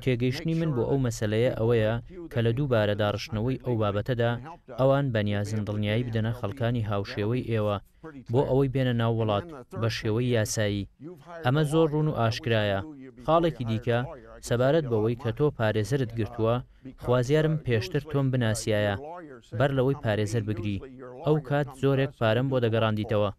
تێگەیشتنی من بۆ ئەو مەسەلەیە ئەوەیە کە لە دووبارە داڕشتنەوەی ئەو بابەتەدا ئەوان بەنیازن دڵنیایی بدەنە خەڵکانی هاوشێوەی ئێوە بۆ ئەوەی بێنە ناو وڵات بە شێوەی یاسایی. ئەمە زۆر ڕوون و ئاشکرایە. خاڵێکی دیکە، سەبارەت بەوەی کە تۆ پارێزەرت گرتووە، خوازیارم پێشتر تۆم بناسیایە بەر لەوەی پارێزەر بگری، ئەو کات زۆرێک پارەم بۆ دەگەڕاندیتەوە.